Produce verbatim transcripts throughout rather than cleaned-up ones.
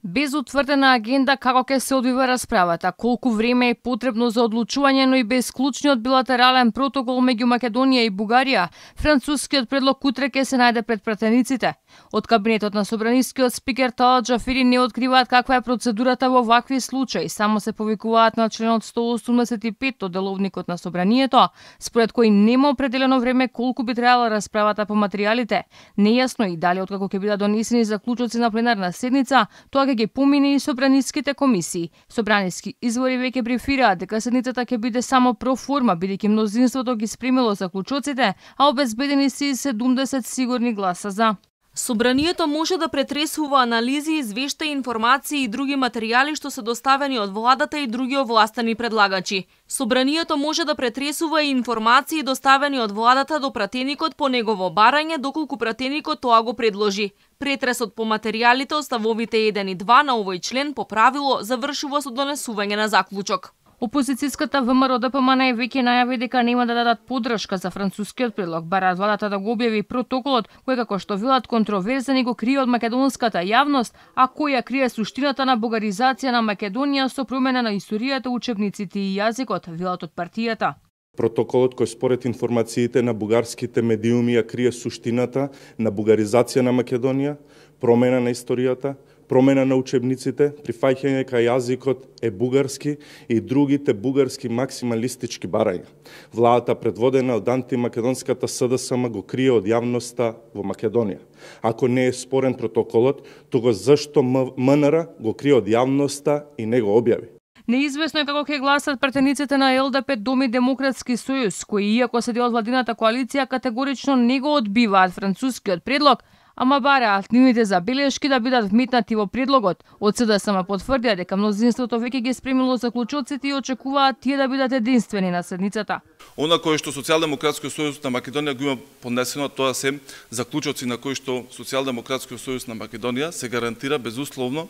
Без утврдена агенда како ќе се одвива расправата, колку време е потребно за одлучување, но и без клучниот билатерален протокол меѓу Македонија и Бугарија, францускиот предлог утре ќе се најде пред пратениците. Од кабинетот на собранискиот спикер Талат Џафери не откриваат каква е процедурата во вакви случаи, само се повикуваат на членот сто осумдесет и пет од деловникот на собранието, според кој нема определено време колку би траела расправата по материјалите. Нејасно и дали откако ќе бидат донесени заклучоци на пленарна седница, тоа ќе ги помине и собраниските комисии. Собраниски извори веќе брифираат дека седницата ќе биде само проформа, бидејќи мнозинството ги спремило заклучоците, а обезбедени се и седумдесет сигурни гласа за. Собранието може да претресува анализи, извешта, информации и други материјали што се доставени од владата и други овластени предлагачи. Собранието може да претресува и информации доставени од владата до пратеникот по негово барање, доколку пратеникот тоа го предложи. Претресот по материјалите од ставовите еден и два на овој член по правило завршува со донесување на заклучок. Опозицијската ВМРО Д П М Н веќе најави дека нема да дадат поддршка за францускиот предлог, бараат владата да го објави протоколот, кој како што велат контроверзен и го крие од македонската јавност, а кој ја крие суштината на бугаризација на Македонија со промена на историјата, учебниците и јазикот, велат од партијата. Протоколот кој според информациите на бугарските медиуми ја крие суштината на бугаризација на Македонија, промена на историјата, промена на учебниците, прифаќање кај јазикот е бугарски и другите бугарски максималистички барања. Владата предводена од антимакедонската С Д С М го крие од јавноста во Македонија. Ако не е спорен протоколот, тога зашто М Н Р го крие од јавноста и не го објави? Неизвестно е како ќе гласат пратениците на Л Д П Дом и Демократски сојуз, кои иако се дел од владината коалиција категорично не го одбиваат францускиот предлог, ама бараат нивните забелешки да бидат вметнати во предлогот. Од С Д С М потврдија дека мнозинството веќе ги спремило заклучоците и очекуваат тие да бидат единствени на седницата. Она кое што Социјалдемократскиот сојуз на Македонија го има поднесено, тоа се заклучоци на кои што Социјалдемократскиот сојуз на Македонија се гарантира безусловно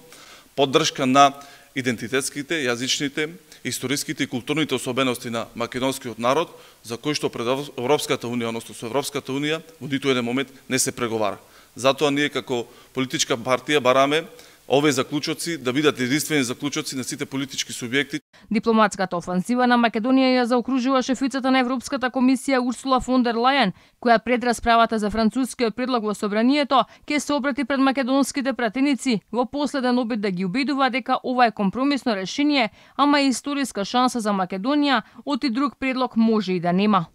поддршка на идентитетските, јазичните, историските и културните особености на македонскиот народ, за кои што пред Европската унија, односно со Европската унија, во ниту еден момент не се преговара. Затоа ние како политичка партија бараме овие заклучоци да бидат единствени заклучоци на сите политички субјекти. Дипломатската офанзива на Македонија ја заокружува шефицата на Европската комисија Урсула фон дер Лајен, која пред расправата за францускиот предлог во собранието ќе се обрати пред македонските пратеници во последен обид да ги убедува дека ова е компромисно решение, ама и историска шанса за Македонија, оти друг предлог може и да нема.